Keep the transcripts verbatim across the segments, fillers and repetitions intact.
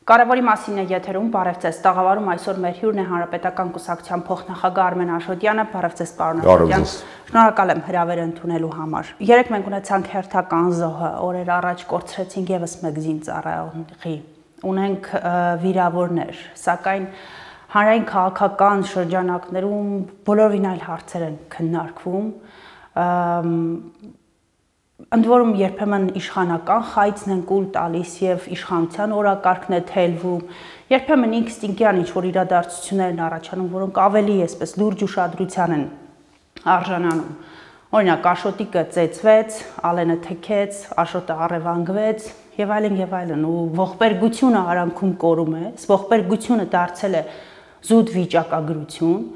Կարևորի մասին է եթերում, բարև ձեզ, տաղավարում այսօր մեր հյուրն է Հանրապետական կուսակցության փոխնախագահ Արմեն Աշոտյանը, բարև ձեզ պարոն Աշոտյան, շնորհակալ եմ հրավերը ընդունելու համար։ Երեկ մենք ունեցանք հերթական զոհը, օրեր առաջ կորցրեցինք եւս մեկ զինծառայողի, ունենք վիրավորներ, սակայն հանրային քաղաքական շրջանակներում բոլորովին այլ հարցեր են քննարկվում, ընդ որում երբեմն իշխանական խայծն են կուլ տալիս եւ իշխանության օրակարգն է թելվում, երբեմն ինստինկտյան ինչ-որ իրադարձություններ են առաջանում, որոնք ավելի այսպես լուրջ ուշադրության են արժանանում։ Օրինակ, Աշոտիկը ծեծվեց, Ալենը թքեց, Աշոտը առևանգվեց եւ այլն եւ այլն, ու ողբերգությունը արանքում կորում է, ողբերգությունը դարձել է զուտ վիճակագրություն։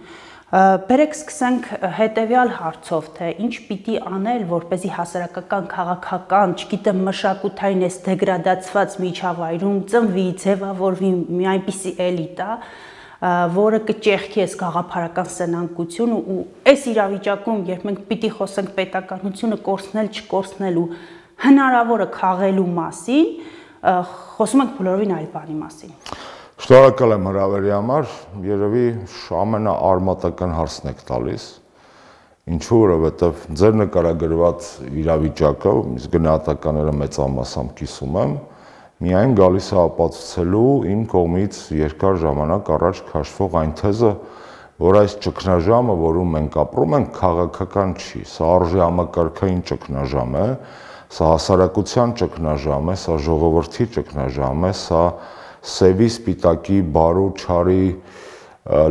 Բերեք սկսենք հետևյալ հարցով, թե ինչ պիտի անել, որպեսզի հասարակական, քաղաքական, չգիտեմ, մշակութային այս դեգրադացված միջավայրում ծնվի, ձևավորվի մի այնպիսի էլիտա, որը կճեղքի այս գաղափարական սնանկությունը ու այս իրավիճակում, երբ մենք պիտի խոսենք պետականությունը կորցնել, չկորցնելու, հնարավորը քաղելու մասին, խոսում ենք բոլորովին այլ բանի մասին։ Շնորհակալ եմ հրավերի համար, երևի ամենաարմատական հարցն եք տալիս, ինչու որովհետև ձեր նկարագրված իրավիճակը, իսկ գնահատականները մեծամասամբ կիսում եմ, միայն գալիս է ապացուցելու իմ կողմից երկար ժամանակ առաջ քաշվող այն թեզը, որ այս ճգնաժամը, որում մենք ապրում ենք, քաղաքական չի, սա արժի համակարգային ճգնաժամ է, սա հասարակության ճգնաժամ է, սա ժողովրդի ճգնաժամ է, սա սևի, սպիտակի, բարու, չարի,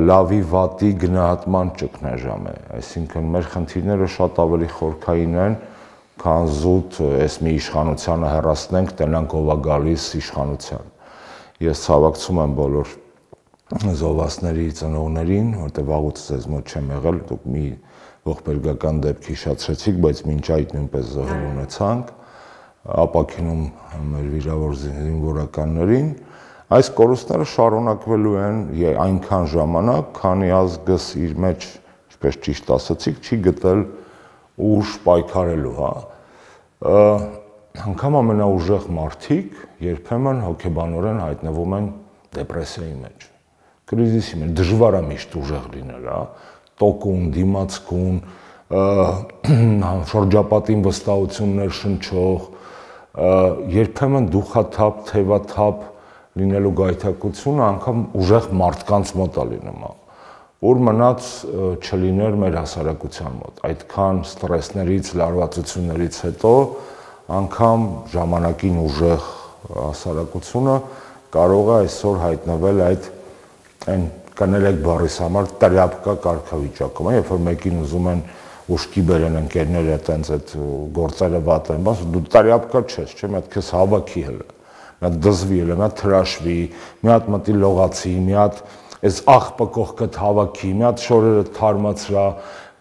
լավի, վատի գնահատման ճգնաժամ է, այսինքն մեր խնդիրները շատ ավելի խորքային են, քան զուտ այս մի իշխանությանը հեռացնենք, տենանք ով է գալիս իշխանության։ Ես ցավակցում եմ բոլոր զոհվածների ծնողներին, որտեղ վաղուց ձեզ մոտ չեմ եղել, դուք մի ողբերգական դեպք հիշեցրեցիք, բայց մինչ այդ նույնպես զոհեր ունեցանք, ապաքինում մեր վիրավոր զինվորականներին։ Այս կորուստները շարունակվելու են այնքան ժամանակ, քանի ազգս իր մեջ, ինչպես ճիշտ ասացիք, չի գտել ուժ պայքարելու, հա։ Անգամ ամենաուժեղ մարդիկ երբեմն հոգեբանորեն հայտնվում են դեպրեսիայի մեջ, կրիզիսի մեջ, դժվար է միշտ ուժեղ լինել, հա, տոկուն, դիմացկուն, շրջապատին վստահություններ շնչող, երբեմն դուխաթափ, թևաթափ լինելու գայթակղությունը անգամ ուժեղ մարդկանց մոտ է լինում, որ մնաց չլիներ մեր հասարակության մոտ, այդքան ստրեսներից, լարվածություններից հետո անգամ ժամանակին ուժեղ հասարակությունը կարող է այսօր հայտնվել այդ այն կներեք բառիս համար տրյապկա կարգավիճակում, երբ որ մեկին ուզում են ուշքի բերեն ընկերները, այտենց այդ գործերը վատ են, բայց դու տրյապկա չես, չէ՞, մի հատ քեզ հավաքի հələ մի հատ դզվի, մի հատ թրաշվի, մի հատ մտի լողացի, մի հատ այս աղբը կողքդ հավաքի, մի հատ շորերը թարմացրա,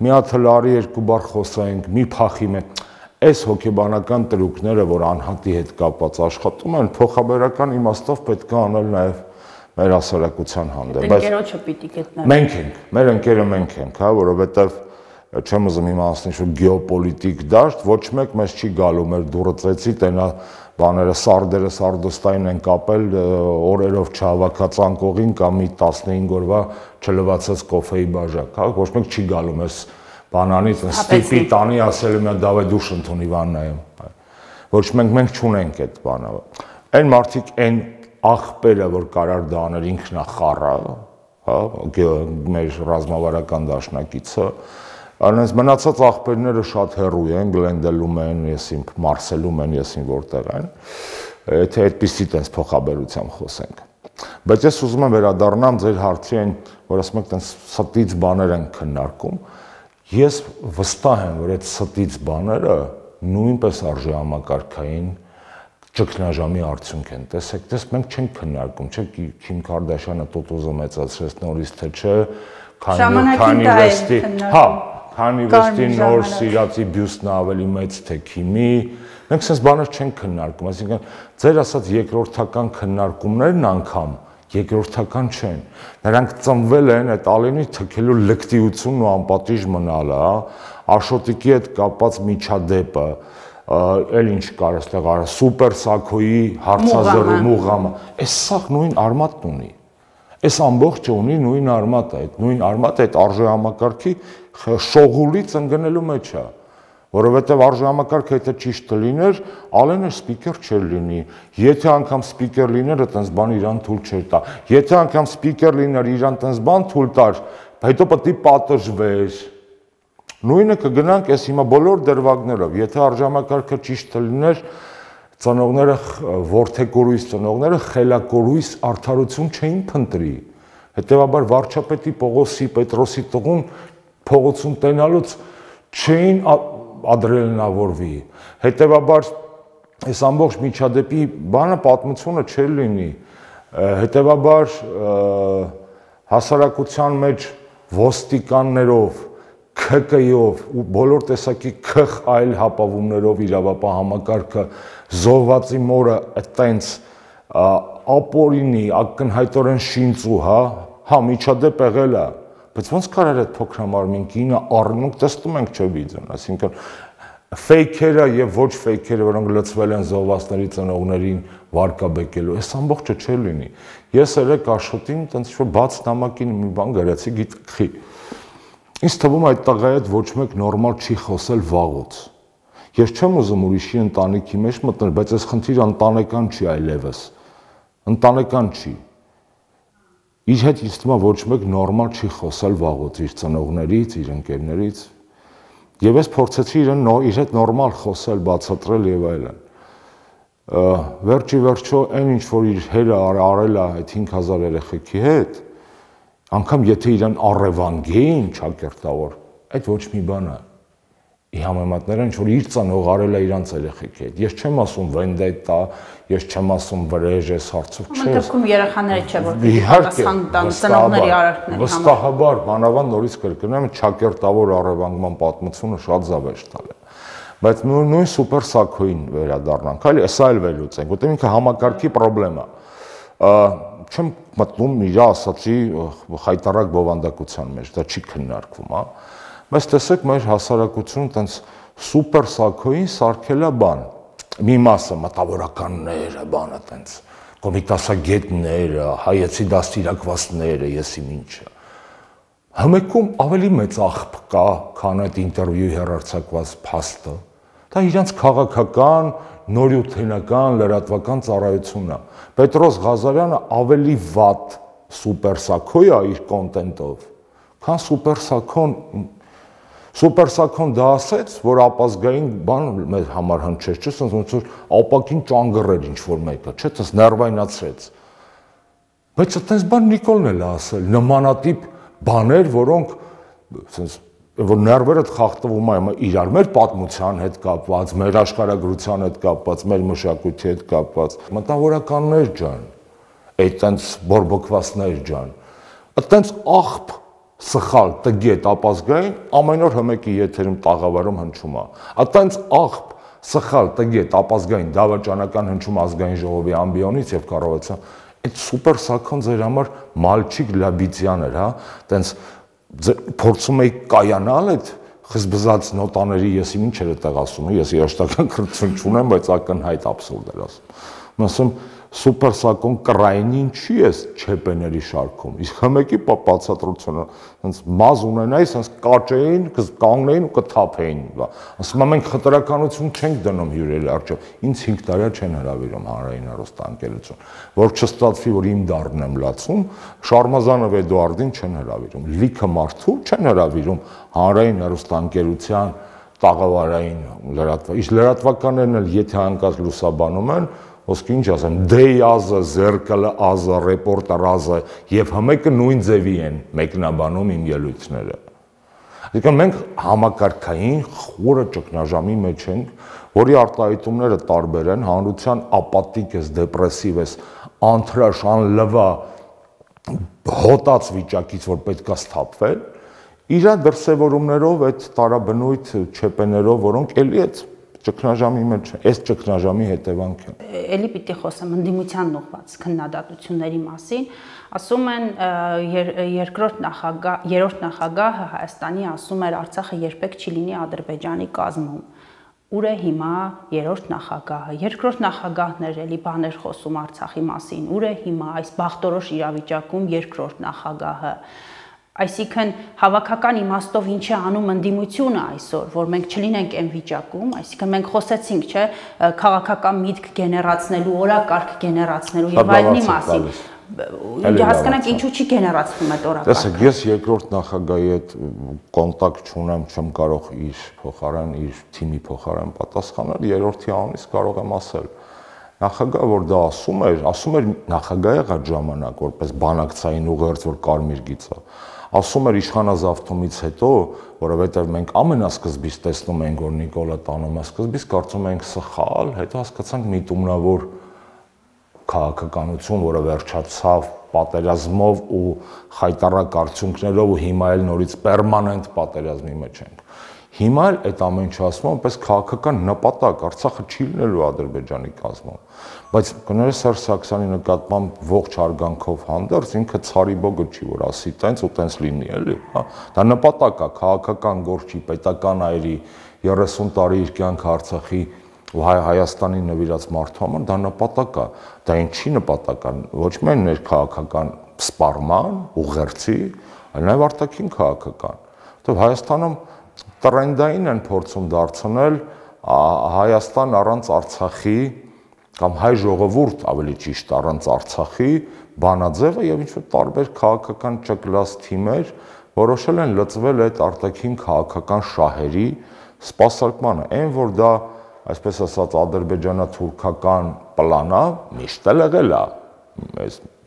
մի հատ հլարի երկու բառ խոսենք, մի փախի մեկ։ Այս հոգեբանական տրուկները, որ անհատի հետ կապված աշխատում են, փոխաբերական իմաստով պետք է անել նաև մեր հասարակության հանդեպ։ Ընկերոջը պիտի գտնեն։ Մենք ենք, մեր ընկերը մենք ենք, հա, որովհետև չեմ ուզում հիմա ասել ինչ-որ գեոպոլիտիկ դաշտ, ոչ մեկ մեզ չի գալու մեր դուռը ծեցի, տենա բաները սարդերը սարդոստային են կապել, օրերով չհավաքած անկողին կամ մի տասնհինգ օրվա չլվացած կոֆեի բաժակ, հա, ոչ մեկ չի գալու մեզ բանանից, ստիպի տանի ասել մի դավայ դուշ ընդունի վաննայում։ Ոչ մենք մենք չունենք այդ բանը։ Այն մարդիկ այն աղբերը, որ կարար դա աներ ինքնա խառը, հա, մեր ռազմավարական դաշնակիցը, Անենց մնացած աղբերները շատ հեռու են, Գլենդելում են, եսին Մարսելում են, եսին որտեղ են, եթե այդպիսի տենց փոխաբերությամբ խոսենք։ Բայց ես ուզում եմ վերադառնամ ձեր հարցի այն, որ ասում եք տենց ստից բաներ են քննարկում։ Ես վստահ եմ, որ այդ ստից բաները նույնպես արժի համակարգային ճգնաժամի արդյունք են։ Տեսեք, տես մենք չենք քննարկում, չէ՞, Քիմ Քարդաշյանը տոտոզը մեծացրեց նորից թե չէ, քանի վեստի, հա, քանի վեստի նոր սիրածի բյուստնը ավելի մեծ թե Քիմի, մենք sense բաներ չենք քննարկում, այսինքն ձեր ասած երկրորդական քննարկումներն անգամ երկրորդական չեն։ Նրանք ծնվել են այդ Ալենի թքելու լկտիությունն ու անպատիժ մնալը, Աշոտիկի հետ կապված միջադեպը, էլ ինչ կար այստեղ արա սուպեր սակոյի հարցազրույց մուղամը, այս սաղ նույն արմատն ունի։ Այս ամբողջը ունի նույն արմատը, այդ նույն արմատը այդ արժե համակարգի շողուլից ընկնելու մեջ է, որովհետև արժե համակարգը եթե ճիշտ լիներ, Ալենը սպիկեր չէր լինի, եթե անգամ սպիկեր լիներ, այտենց բան իրան թույլ չէր տա, եթե անգամ սպիկեր լիներ, իրան այտենց բան թույլ տար, հետո պետք է պատժվեր։ Նույնը կգնանք այս հիմա բոլոր դրվագներով, եթե արժե համակարգը ճիշտ լիներ, ծնողները ворթեկորույս ծնողները խելակորույս արդարություն չէին փնտրի։ Հետևաբար վարչապետի Պողոսի Պետրոսի տղուն փողոցում տենալուց չէին ադրելնավորվի։ Հետևաբար այս ամբողջ միջադեպի բանը պատմությունը չէր լինի։ Հետևաբար հասարակության մեջ ոստիկաններով K K-ով ու բոլոր տեսակի քխ այլ հապավումներով իրավապահ համակարգը զոհվածի մորը այտենց ապօրինի ակնհայտորեն շինծու, հա, հա միջադեպ եղել է, բայց ոնց կարար այդ փոքրամարմին կինը առնունք տեսնում ենք չէ վիդեոն, այսինքն ֆեյքերը եւ ոչ ֆեյքերը, որոնք լցվել են զոհվածների ծնողներին վարկաբեկելու, այս ամբողջը չէ լինի։ Ես երեք Աշոտին այտենց ինչ-որ բաց նամակին մի բան գրեցի, գիտքի։ Ինձ թվում է այդ տղայի հետ ոչ մեկ նորմալ չի խոսել վաղուց։ Ես չեմ ուզում ուրիշի ընտանիքի մեջ մտնել, բայց այս խնդիրը ընտանեկան չի այլևս։ Ընտանեկան չի։ Իր հետ ինձ թվում է ոչ մեկ նորմալ չի խոսել վաղուց իր ծնողներից, իր ընկերներից։ Եվ ես փորձեցի իրեն իր հետ նորմալ խոսել, բացատրել եւ այլն։ Վերջի վերջո այն ինչ որ իր հերը արել է այդ հինգ հազար երեխեքի հետ, անգամ եթե իրան առևանգեին ճակերտավոր, այդ ոչ մի բան է։ Ի համեմատները ինչ որ իր ծնող արել է իրանց երեխեքի հետ։ Ես չեմ ասում վենդետա, ես չեմ ասում վրեժ, ես հարցով չէ։ Մտքում երեխաները չէ որ պատասխան տան ծնողների արարքների համար։ Վստահաբար, մանավանդ նորից կրկնեմ, ճակերտավոր առևանգման պատմությունը շատ զավեշտ տալ է։ Բայց նույն սուպեր սակոին վերադառնանք, այլ էսա էլ վերլուծենք, որտեղ ինքը համակարգի խնդրեմ է։ Չեմ մտնում իր ասացի խայտարակ բովանդակության մեջ, դա չի քննարկվում, հա։ Բայց տեսեք մեր հասարակությունը տենց սուպեր սակոին սարքել է բան։ Մի մասը մտավորականները, բանը տենց կոմիտասագետները, հայեցի դաստիարակվածները, եսի ինչը։ Համեկում ավելի մեծ աղբ կա, քան այդ ինտերվյուի հեռարձակված փաստը։ Դա իրանց քաղաքական նորյութենական լրատվական ծառայությունն է։ Պետրոս Ղազարյանը ավելի վատ սուպեր սակոյ է իր կոնտենտով, քան սուպեր սակոն սուպեր սակոն դա ասեց, որ ապազգային բան մեր համար հնչեց, չէ՞, ոնց որ ապակին ճանգռեր ինչ որ մեկը, չէ՞, դες ներվայնացրեց։ Բայց այդպես բան Նիկոլն էլ ասել, նմանատիպ բաներ, որոնք ասես որ ներվերդ խախտվում է իրար մեր պատմության հետ կապված, մեր աշխարհագրության հետ կապված, մեր մշակույթի հետ կապված, մտավորականներ ջան, այտենց բորբոքվածներ ջան, այտենց աղբ սխալ տգետ ապազգային ամեն օր հմեկի եթերում տաղավարում հնչում է, այտենց աղբ սխալ տգետ ապազգային դավաճանական հնչում ազգային ժողովի ամբիոնից եւ կառավարության, այդ սուպեր սակոն ձեր համար մալչիկ լաբիցյան էր, հա, այտենց փորձում էի կայանալ այդ խզբզած նոտաների եսի ինչ էր այդտեղ ասում, ես երաշտական կրթություն չունեմ, բայց ակնհայտ աբսուրդ էր ասում։ Ասում սուպեր սակոն կրայնին չի էս չեպեների շարքում։ Իսկ հմեկի բացատրությունը, հենց մազ ունենայի, հենց կաճեին, կանգնեին ու կթափեին։ Ասում եմ մենք խտրականություն չենք դնում հյուրերի առջև։ Ինձ հինգ տարի չեն հրավիրում հանրային հեռուստաընկերություն, որ չստացվի, որ իմ դառն եմ լացում, Շարմազանով Էդուարդին չեն հրավիրում։ Լիքը մարդու չեն հրավիրում հանրային հեռուստաընկերության տաղավարային լրատվական։ Իսկ լրատվականներն էլ եթե հանկարծ լուսաբանում են, ոսկի ինչ ասեմ, դեյազը, զերկալը ազը, ռեպորտարազը եւ հմեկը նույն ձևի են մեկնաբանում իմ ելույթները։ Այսինքն մենք համակարգային խորը ճգնաժամի մեջ ենք, որի արտահայտումները տարբեր են, հանրության ապատիկ ես, դեպրեսիվ ես, անթրաշ, անլվա, հոտած վիճակից, որ պետքա սթափվել, իր դրսևորումներով, այդ տարաբնույթ չեպեներով, որոնք էլի այդ ճգնաժամի մեջ, այս ճգնաժամի հետևանք է։ Էլի պիտի խոսեմ ընդդիմության ուղղված քննադատությունների մասին, ասում են երկրորդ նախագահ, երրորդ նախագահը Հայաստանի ասում էր Արցախը երբեք չի լինի Ադրբեջանի կազմում։ ուր է հիմա երրորդ նախագահը, երկրորդ նախագահն էր էլի բաներ խոսում Արցախի մասին, ուր է հիմա այս բախտորոշ իրավիճակում երկրորդ նախագահը։ Այսինքն հավաքական իմաստով ինչ է անում ընդդիմությունը այսօր, որ մենք չլինենք այն վիճակում, այսինքն մենք խոսեցինք, չէ, քաղաքական միտք գեներացնելու, օրակարգ գեներացնելու եւ այլնի մասին։ Հասկանանք ինչու չի գեներացվում այդ օրակարգը։ Տեսեք, ես երկրորդ նախագահի հետ կոնտակտ չունեմ, չեմ կարող իր փոխարեն, իր թիմի փոխարեն պատասխանել, երրորդի անունից կարող եմ ասել։ Նախագահը, որ դա ասում էր, ասում էր նախագահը այդ ժամանակ, որպես բանակցային ուղերձ, որ կարմիր գիծա, ասում էր իշխանազավթումից հետո, որովհետև մենք ամենասկզբից տեսնում ենք, որ Նիկոլը տանում է, սկզբից կարծում ենք սխալ, հետո հասկացանք միտումնավոր քաղաքականություն, որը վերջացավ պատերազմով ու խայտառակ արդյունքներով ու հիմա էլ նորից պերմանենտ պատերազմի մեջ ենք։ Հիմա էլ այդ ամեն ինչը ասում եմ, պես քաղաքական նպատակ, Արցախը չի լինելու Ադրբեջանի կազմում, բայց կներես Սերժ Սարգսյանի նկատմամբ ողջ հարգանքով հանդերձ ինքը ցարի բոգը չի, որ ասի տենց ու տենց լինի, էլի, հա։ Դա նպատակ է, քաղաքական գործի, պետական այրի, երեսուն տարի իր կյանքը Արցախի ու Հայաստանի նվիրած մարդու համար դա նպատակ է, դա ինչի նպատակ է, ոչ միայն ներքաղաքական սպառման, ուղերձի, այլ նաև արտաքին քաղաքական։ Որտեւ Հայաստանում տրենդային են փորձում դարձնել Հայաստան առանց Արցախի կամ հայ ժողովուրդ ավելի ճիշտ առանց Արցախի բանաձևը եւ ինչ-որ տարբեր քաղաքական ճկլած թիմեր որոշել են լծվել այդ արտաքին քաղաքական շահերի սպասարկմանը, այն որ դա այսպես ասած ադրբեջանա-թուրքական պլանա միշտ էլ եղել է,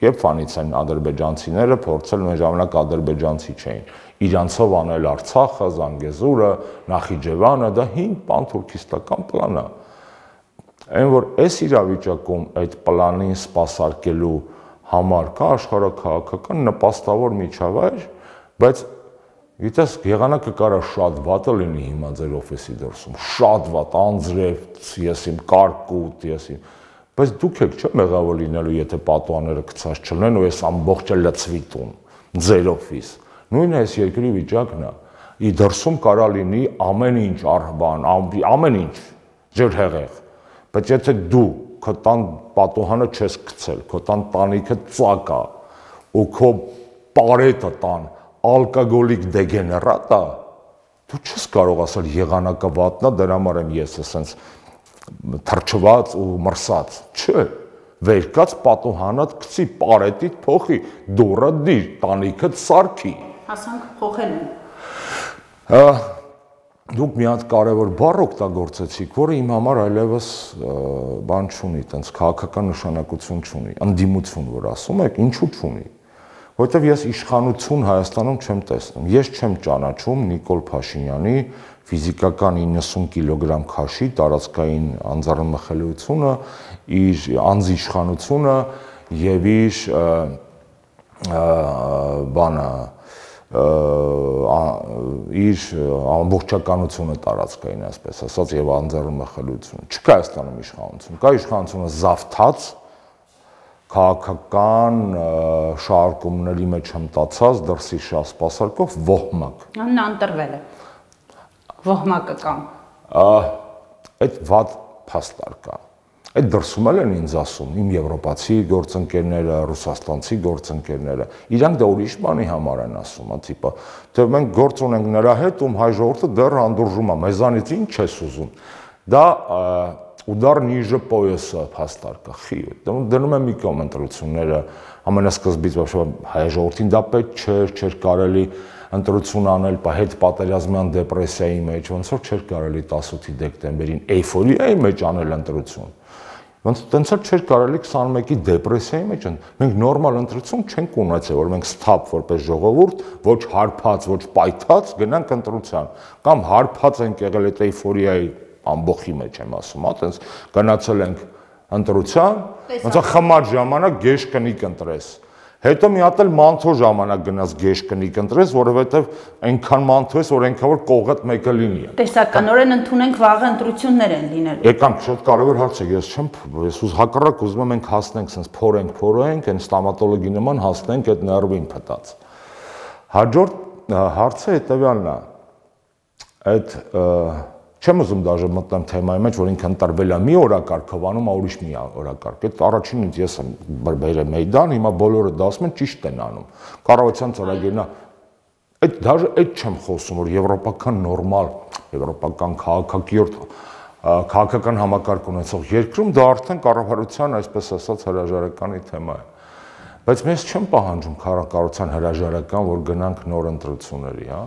երբ ֆանից են ադրբեջանցիները փորձել մեր ժամանակ ադրբեջանցի չէին, իրանցով անել Արցախը, Զանգեզուրը, Նախիջևանը, դա հին պանթուրքիստական պլան է, այն որ այս իրավիճակում այդ պլանին սպասարկելու համար կա աշխարհաքաղաքական նպաստավոր միջավայր, բայց գիտես, եղանակը կարա շատ վատը լինի հիմա ձեր օֆիսի դրսում, շատ վատ, անձրև, ես իմ կարկուտ, ես իմ, բայց դուք եք չէ մեղավոր լինելու, եթե պատուհանները գցած չլինեն ու ես ամբողջը լցվի տուն, ձեր օֆիս, նույնը այս երկրի վիճակն է, ի դրսում կարա լինի ամեն ինչ արհբան, ամեն ինչ, ձեր հեղեղ, բայց եթե դու քո տան պատուհանը չես գցել, քո տան տանիքը ծակ է, ու քո պարետը տան ալկոգոլիկ դեգեներատ է, դու չես կարող ասել եղանակը վատնա, դրա համար եմ ես ասենց թրջված ու մրսած, չէ, վերկաց պատուհանդ գցի, պարետիդ փոխի, դուռը դիր, տանիքդ սարքի։ Հասանք փոխել են։ Դուք մի հատ կարևոր բառ օգտագործեցիք, որը իմ համար այլևս բան չունի, տենց քաղաքական նշանակություն չունի, ընդդիմություն, որ ասում եք, ինչու չունի։ Որտեվ ես իշխանություն Հայաստանում չեմ տեսնում։ Ես չեմ ճանաչում Նիկոլ Փաշինյանի ֆիզիկական իննսուն կիլոգրամ քաշի տարածքային անձեռնմխելիությունը, իր անձի իշխանությունը եւ իր բանը իր ամբողջականությունը տարածքային, այսպես ասած, եւ անձեռնմխելիությունը։ Չկա Հայաստանում իշխանություն, կա իշխանությունը զավթած քաղաքական շարժումների մեջ հմտացած դրսի շահ սպասարկող ոհմակ։ Նա ընտրվել է։ Ոհմակը կամ։ Այդ վատ փաստար կա։ Այդ դրսում էլ են ինձ ասում, իմ եվրոպացի գործընկերները, ռուսաստանցի գործընկերները, իրանք դա ուրիշ բանի համար են ասում, տիպը, թե մենք գործ ունենք նրա հետ, ում հայ ժողովուրդը դեռ հանդուրժում է, մեզանից ինչ ես ուզում։ Դա ուդար նիժը պոյեսը փաստար կա, խի, դնում եմ մի կողմ ընտրությունները, ամենասկզբից հայ ժողովրդին դա պետք չէր, չէր կարելի ընտրություն անել հետ պատերազմյան դեպրեսիայի մեջ, ոնց որ չէր կարելի տասութի դեկտեմբերին էյֆորիայի մեջ անել ընտրություն։ Ոնց տենց էլ չէր կարելի քսանմեկի դեպրեսիայի մեջ, մենք նորմալ ընտրություն չենք ունեցել, որ մենք սթափ որպես ժողովուրդ, ոչ հարբած, ոչ պայթած գնանք ընտրության, կամ հարբած ենք եղել այդ էյֆորիայի ամբողջի մեջ եմ ասում, հա, տենց գնացել ենք ընտրության, ոնց է խմար ժամանակ գեշ կնիկ ընտրես։ Հետո մի հատ էլ մանթո ժամանակ գնաց գեշ կնիկ ընտրես, որովհետև այնքան մանթո ես, որ այնքան որ կողդ մեկը լինի։ Տեսականորեն ընդունենք վաղը ընտրություններ են լինելու։ Եկանք շատ կարևոր հարց է, ես չեմ, ես ուզ հակառակ ուզում եմ մենք հասնենք sense փորենք, փորենք, այն ստոմատոլոգի նման հասնենք այդ ներվին փտած։ Հաջորդ հարցը հետևյալն է։ Այդ Չեմ ուզում դաժե մտնեմ թեմայի մեջ, որ ինքը ընտրվել է մի օրակարգով, անում է ուրիշ մի օրակարգ։ Այդ առաջինից ես եմ բերել Մեյդան, հիմա բոլորը դա ասում են ճիշտ են անում։ Կառավարության ծրագիրն է։ Այդ դաժե այդ չեմ խոսում, որ եվրոպական նորմալ, եվրոպական քաղաքակիրթ, քաղաքական համակարգ ունեցող երկրում դա արդեն կառավարության, այսպես ասած, հրաժարականի թեմա է։ Բայց մեզ չեմ պահանջում կառավարության հրաժարական, որ գնանք նոր ընտրությունների, հա։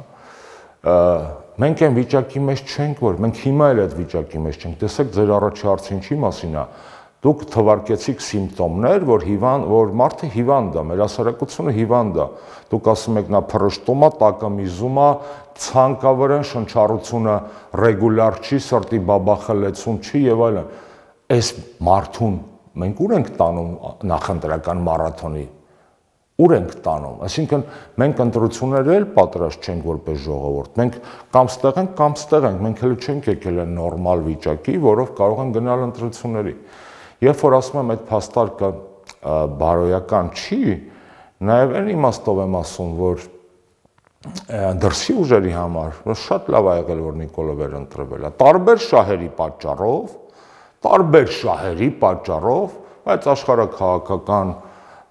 Մենք այն վիճակի մեջ չենք, որ մենք հիմա էլ այդ վիճակի մեջ չենք։ Տեսեք, ձեր առաջի հարցը ինչի մասին է։ Դուք թվարկեցիք սիմպտոմներ, որ հիվանդ, որ մարդը հիվանդ է, մեր հասարակությունը հիվանդ է։ Դուք ասում եք նա փռշտում է, տակամիզում է, ցանկավրեն շնչառությունը ռեգուլար չի, սրտի բաբախելեցում չի եւ այլն։ Այս մարդուն մենք ուր ենք տանում նախընտրական մարաթոնի։ Ուր ենք տանում, այսինքն մենք ընտրություններ էլ պատրաստ չենք որպես ժողովուրդ, մենք կամ ստեղ ենք, կամ ստեղ ենք, մենք հենց չենք եկել այն նորմալ վիճակի, որով կարող են գնալ ընտրությունների։ Երբ որ ասում եմ այդ փաստարկը բարոյական չի, նաև այն իմաստով եմ ասում, որ դրսի ուժերի համար շատ լավ է եղել, որ Նիկոլը ընտրվել է, տարբեր շահերի պատճառով, տարբեր շահերի պատճառով, բայց աշխարհաքաղաքական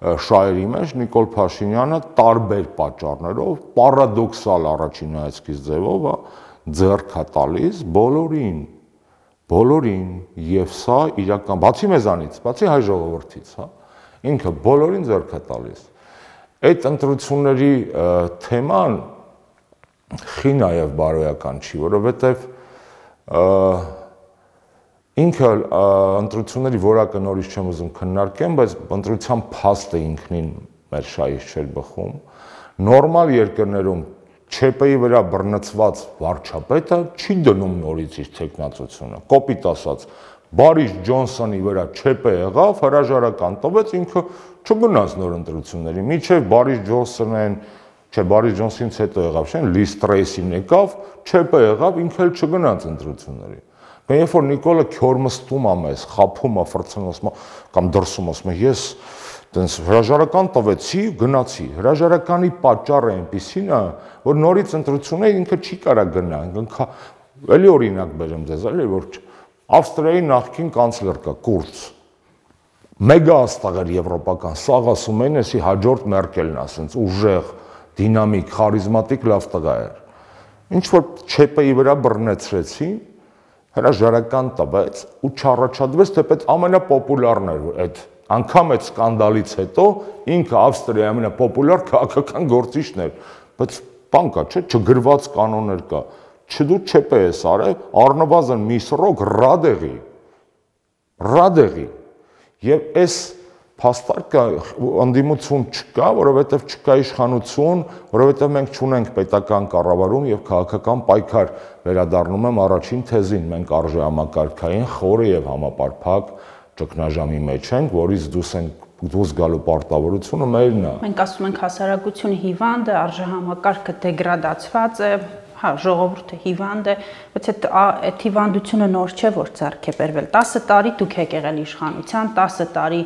շահերի մեջ Նիկոլ Փաշինյանը տարբեր պատճառներով, պարադոքսալ առաջին հայացքից ձևով է ձեռք է տալիս բոլորին, բոլորին եւ սա իրական, բացի մեզանից, բացի հայ ժողովրդից, հա, ինքը բոլորին ձեռք է տալիս։ Այդ ընտրությունների թեման խի նաեւ բարոյական չի, որովհետեւ ինքը ընտրությունների որակը նորից չեմ ուզում քննարկեմ, բայց ընտրության փաստը ինքնին մեր շահից չէր բխում։ Նորմալ երկրներում ՉՊ-ի վրա բռնցված վարչապետը չի դնում նորից իր տեխնացությունը։ Կոպիտ ասած, Բարիս Ջոնսոնի վրա ՉՊ եղավ, հրաժարական տվեց, ինքը չգնաց նոր ընտրությունների։ Մինչև Բարիս Ջոնսոնն, չէ, Բարիս Ջոնսոնից հետո եղավ, չէ՞, Լիս Տրեյսին եկավ, ЧՊ եղավ, ինքը էլ չգնաց ընտրությունների։ Երբ որ Նիկոլը քյորմստում է մեզ, խափում է, ֆրցնում է, կամ դրսում ասում է, ես տենց հրաժարական տվեցի, գնացի։ Հրաժարականի պատճառը այնպեսին է, որ նորից ընտրություններ ինքը չի կարա գնա։ Էլի օրինակ բերեմ ձեզ, էլի որ Ավստրիայի նախկին կանցլեր կա, Կուրց։ Մեգա աստղեր եվրոպական, սաղ ասում են, էսի հաջորդ Մերկելն է, ասենց ուժեղ, դինամիկ, խարիզմատիկ լավ տղա էր։ Ինչ որ ЧՊ-ի վրա բռնեցրեցին, հրաժարական տվեց ու չառաջադրվեց, թեպետ ամենապոպուլարն էր այդ անգամ այդ սկանդալից հետո ինքը Ավստրիայի ամենապոպուլար քաղաքական գործիչն էր, բայց բան կա, չէ, չգրված կանոններ կա, չդու ЧՊ ես արել, առնվազն մի սրոք ռադեղի, ռադեղի, եւ այս փաստարկը ընդդիմություն չկա, որովհետև չկա իշխանություն, որովհետև մենք չունենք պետական կառավարում եւ քաղաքական պայքար, վերադառնում եմ առաջին թեզին, մենք արժեհամակարգային խորը եւ համապարփակ ճգնաժամի մեջ ենք, որից դուրս ենք դուրս գալու պարտավորությունը մերն է։ Մենք ասում ենք հասարակությունը հիվանդ է, արժեհամակարգը դեգրադացված է, հա, ժողովուրդը հիվանդ է, բայց այդ այդ հիվանդությունը նոր չէ, որ ձեռք է բերվել։ տասը տարի դուք եք եղել իշխանության, տասը տարի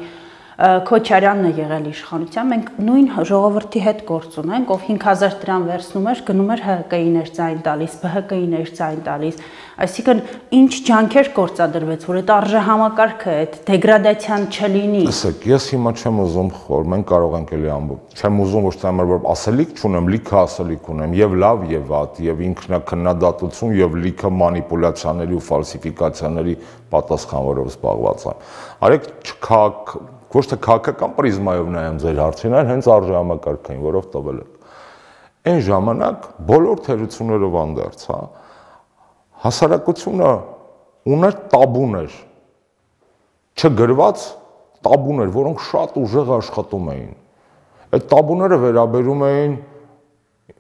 Քոչարյանն է եղել իշխանության, մենք նույն ժողովրդի հետ գործ ունենք, ով հինգ հազար դրամ վերցնում էր, գնում էր ՀՀԿ-ին էր ձայն տալիս, ԲՀԿ-ին էր ձայն տալիս, այսինքն ինչ ջանքեր գործադրվեց, որ այդ արժեհամակարգը, այդ դեգրադացիան չլինի։ Տեսեք, ես հիմա չեմ ուզում խոր, մենք կարող ենք էլի ամբողջ, չեմ ուզում ոչ թե амар որ ասելիք չունեմ, լիքը ասելիք ունեմ, եւ լավ եւ վատ, եւ ինքնակնդատություն եւ լիքը մանիպուլյացիաների ու ֆալսիֆիկացիաների պատասխանվորով զբաղված եմ։ Արեք չքակ ոչ թե քաղաքական պրիզմայով նայեմ ձեր հարցին, այլ հենց արժեհամակարգային, որով տվել եք։ Այն ժամանակ բոլոր թերություններով անդերձ, հա, հասարակությունը ուներ տաբուներ, չգրված տաբուներ, որոնք շատ ուժեղ աշխատում էին։ Այդ տաբուները վերաբերում էին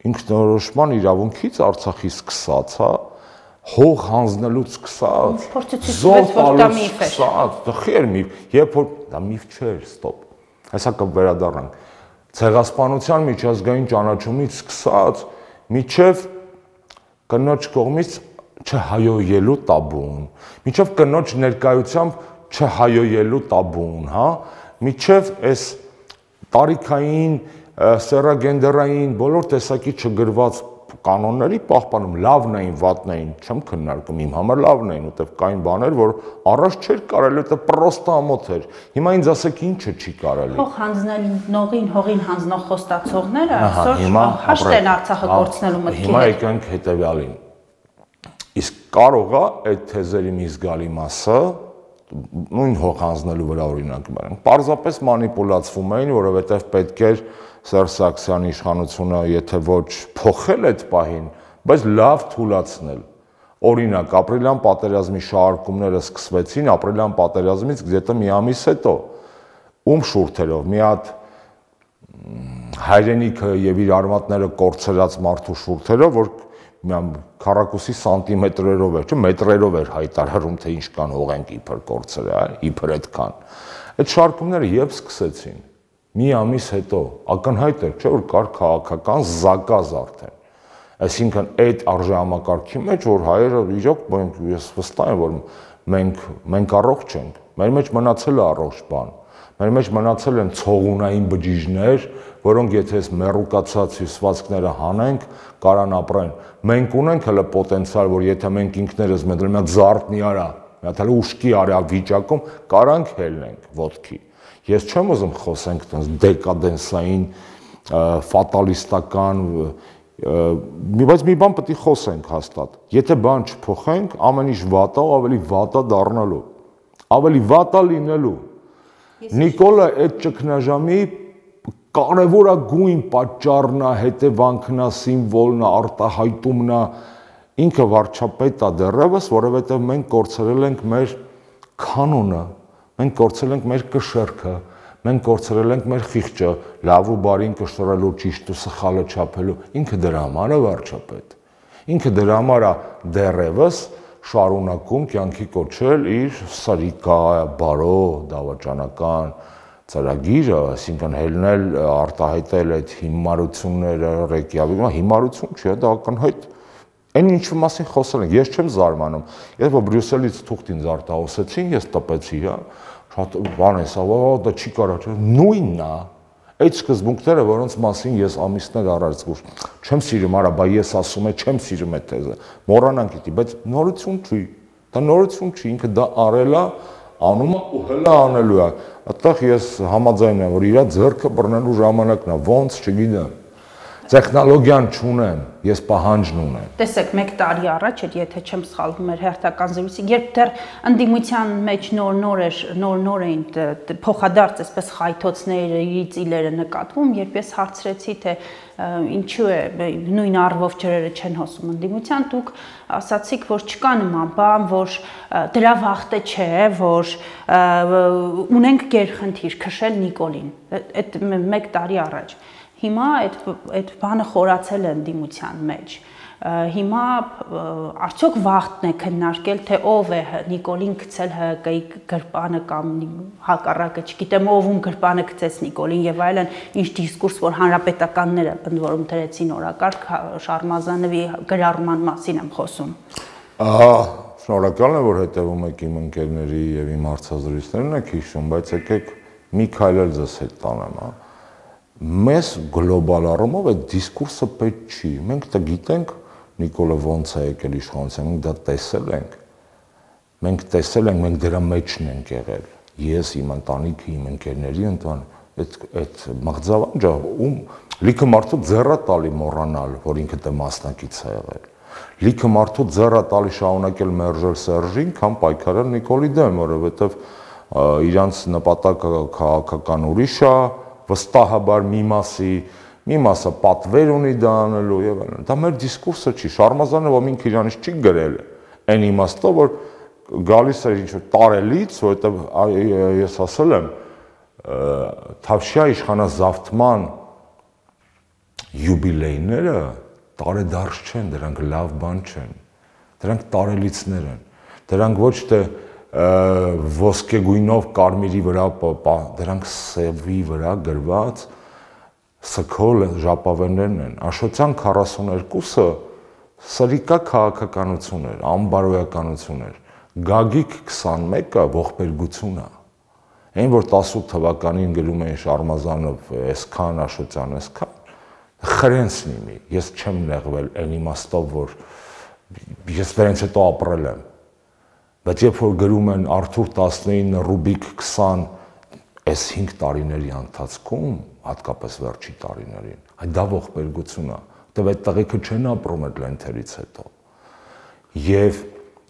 ինքնորոշման իրավունքից Արցախի սկսած, հա, հող հանձնելուց սկսած, զոհ տալուց սկսած, դխեր միֆ, երբ որ դա միֆ չէր, ստոպ, հեսա կվերադառնանք, ցեղասպանության միջազգային ճանաչումից սկսած, միջև կնոջ կողմից չհայոյելու տաբուն, միջև կնոջ ներկայությամբ չհայոյելու տաբուն, հա, միջև այս տարիքային, սեռագենդերային, բոլոր տեսակի չգրված կանոնների պահպանում, լավն էին, վատն էին, չեմ քննարկում, իմ համար լավն էին, որտեվ կային բաներ, որ առաջ չէր կարելի, որտեվ պրոստը ամոթ էր։ Հիմա ինձ ասեք ինչը չի կարելի։ Հող հանձնողին, հողին հանձնող խոստացողները այսօր հաշտ են Արցախը կորցնելու մտքի հետ։ Հիմա եկանք հետևյալին։ Իսկ կարող է այդ թեզերի մի զգալի մասը նույն հող հանձնելու վրա օրինակ բերենք։ Պարզապես մանիպուլացվում էին, որովհետև պետք էր Սերժ Սարգսյանի իշխանությունը, եթե ոչ փոխել այդ պահին, բայց լավ թույլացնել։ Օրինակ, ապրիլյան պատերազմի շարժումները սկսվեցին ապրիլյան պատերազմից գետը մի ամիս հետո։ Ում շուրթերով, մի հատ հայրենիքը եւ իր արմատները կորցրած մարդու շուրթերով, որ քառակուսի սանտիմետրերով էր, չէ, մետրերով էր հայտարարում, թե ինչքան հող ենք իբր կորցրել, իբր այդքան։ Այդ շարժումները երբ սկսեցին, մի ամիս հետո, ակնհայտ էր, չէ, որ կար քաղաքական զակազ արդեն։ Այսինքն այդ արժեհամակարգի մեջ, որ հայերը իրոք, ես վստահ եմ, որ մենք մենք առողջ ենք, մեր մեջ մնացել է առողջ բան, մեր մեջ մնացել են ցողունային բջիջներ, որոնք եթե այս մեռուկացած հյուսվածքները հանենք, կարան ապրեն։ Մենք ունենք հələ պոտենցիալ, որ եթե մենք ինքներս մեզ մի հատ զարթնի արա, մի հատ հələ ուշքի արա վիճակում կարանք հելնենք ոտքի։ Ես չեմ ուզում խոսենք այդպես դեկադենսային, ֆատալիստական, բայց մի բան պետք է խոսենք հաստատ։ Եթե բան չփոխենք, ամեն ինչ վատ է, ավելի վատ է դառնալու։ Ավելի վատ է լինելու։ Նիկոլը այդ ճգնաժամի կարևորագույն պատճառն է, հետևանքն է, սիմվոլն է, արտահայտումն է, ինքը վարչապետ է դեռևս, որովհետև մենք կորցրել ենք մեր կանոնը, մենք կորցրել ենք մեր կշեռքը, մենք կորցրել ենք մեր խիղճը, լավ ու բարին կշռելու, ճիշտ ու սխալը չափելու, ինքը դրա համար է վարչապետ։ Ինքը դրա համար է դեռևս շարունակում կյանքի կոչել իր սրիկա, բարո, դավաճանական ծրագիրը, այսինքն հելնել, արտահայտել այդ հիմարությունները Ռեյկյավիկում, հիմարություն չի, դա ակնհայտ այն ինչի մասին խոսել ենք, ես չեմ զարմանում, ես որ Բրյուսելից թուղթ ինձ արտահոսեցին, ես տպեցի, հա, շատ բան է, սա, դա չի կարա, նույնն է, այդ սկզբունքները, որոնց մասին ես ամիսներ առաջ զգուշ չեմ սիրում, արա, բա ես ասում եմ, չեմ սիրում այդ թեզը, մոռանանք դի, բայց նորություն չի, դա նորություն չի, ինքը դա արել է, անում է ու հələ անելու է։ Այդտեղ ես համաձայն եմ, որ իր ձեռքը բռնելու ժամանակն է, ոնց չգիտեմ։ Տեխնոլոգիան չունեմ, ես պահանջն ունեմ։ Տեսեք, մեկ տարի առաջ էր, եթե չեմ սխալվում, մեր հերթական զրույցի, երբ դեռ ընդդիմության մեջ նոր-նոր էր, նոր-նոր էին փոխադարձ այսպես խայթոցների ծիլերը նկատվում, երբ ես հարցրեցի, թե ինչու է նույն առվով ջրերը չեն հոսում ընդդիմության, դուք ասացիք, որ չկա նման բան, որ դրա վախտը չէ, որ ունենք գերխնդիր քշել Նիկոլին, այդ մեկ տարի առաջ։ Հիմա այդ այդ բանը խորացել է ընդդիմության մեջ։ Հիմա արդյոք վախտն է քննարկել, թե ով է Նիկոլին գցել ՀԿ-ի գրպանը կամ հակառակը, չգիտեմ ով ում գրպանը գցեց Նիկոլին եւ այլն, ինչ դիսկուրս, որ հանրապետականները ընդ որում դրեցին օրակարգ, Շարմազանովի գրառման մասին եմ խոսում։ Ահա, շնորհակալ եմ, որ հետևում եք իմ ընկերների եւ իմ հարցազրույցներն եք հիշում, բայց եկեք մի քայլ էլ ձեզ հետ տանեմ, հա։ Մեզ գլոբալ առումով այդ դիսկուրսը պետք չի։ Մենք դա գիտենք, Նիկոլը ոնց է եկել իշխանության, մենք դա տեսել ենք։ Մենք տեսել ենք, մենք դրա մեջն ենք եղել։ Ես, իմ ընտանիքը, իմ ընկերների ընտան, այդ այդ մղձավանջը ում լիքը մարդու ձեռա տալի մոռանալ, որ ինքը դա մասնակից է եղել։ Լիքը մարդու ձեռա տալի շարունակել մերժել Սերժին, կամ պայքարել Նիկոլի դեմ, որովհետև իրանց նպատակը քաղաքական ուրիշ է, վստահաբար մի մասի, մի մասը պատվեր ունի դա անելու եւ այլն։ Դա մեր դիսկուրսը չի, Շարմազանովը ինքը իրանից չի գրել, այն իմաստով, որ գալիս է ինչ-որ տարելից, որովհետեւ ես ասել եմ, Թավշյա իշխանազավթման յուբիլեյները տարեդարձ չեն, դրանք լավ բան չեն, դրանք տարելիցներ են, դրանք ոչ թե ոսկեգույնով կարմիրի վրա, դրանք սևի վրա գրված սքոլ ժապավեններն են, Աշոտյան քառասուներկուսը սրիկա քաղաքականություն էր, անբարոյականություն էր, Գագիկ քսանմեկը ողբերգություն է, այն որ տասութ թվականին գրում էին Շարմազանով, այսքան Աշոտյան, այսքան, Խրեն սնիմի, ես չեմ նեղվել այն իմաստով, որ ես դրանից հետո ապրել եմ։ Բայց երբ որ գրում են Արթուր տասնինը, Ռուբիկ քսան, այս հինգ տարիների ընթացքում, հատկապես վերջի տարիներին, այդ դա ողբերգություն է, որտեղ այդ տղեկը չեն ապրում այդ լենթերից հետո։ Եվ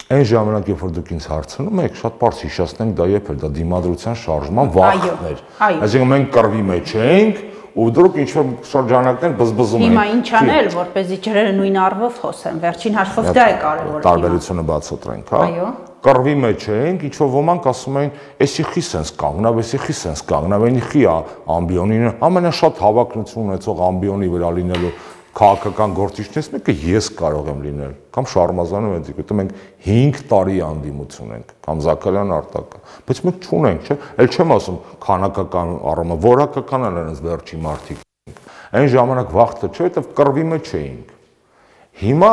այն ժամանակ, երբ որ դուք ինձ հարցնում եք, շատ պարզ հիշեցնենք դա երբ էր, դա դիմադրության շարժման վախն էր։ Այսինքն մենք կռվի մեջ էինք, ու դուք ինչ-որ շրջանակներ բզբզում եք։ Հիմա ինչ անել, որպեսզի ջրերը նույն առվով խոսեն, վերջին հաշվով դա է կարևորը։ Տարբերությունը բացատրենք, հա։ Այո։ Կռվի մեջ էինք, ինչ-որ ոմանք ասում էին, «Էսի խի սենց կանգնավ, էսի խի սենց կանգնավ, այնի խի ամբիոնին»։ Ամենաշատ հավակնություն ունեցող ամբիոնի վրա լինելու քաղաքական գործիչներից մեկը ես կարող եմ լինել, կամ Շարմազանը Վենտիկը, որտեղ մենք հինգ տարի անդիմություն ենք, կամ Զաքարյան Արտակը, բայց մենք չունենք, չէ՞, էլ չեմ ասում քանակական առումով, որակական են այնպես վերջի մարդիկ։ Այն ժամանակ վախտը չէ, որտեղ կռվի մեջ էինք։ Հիմա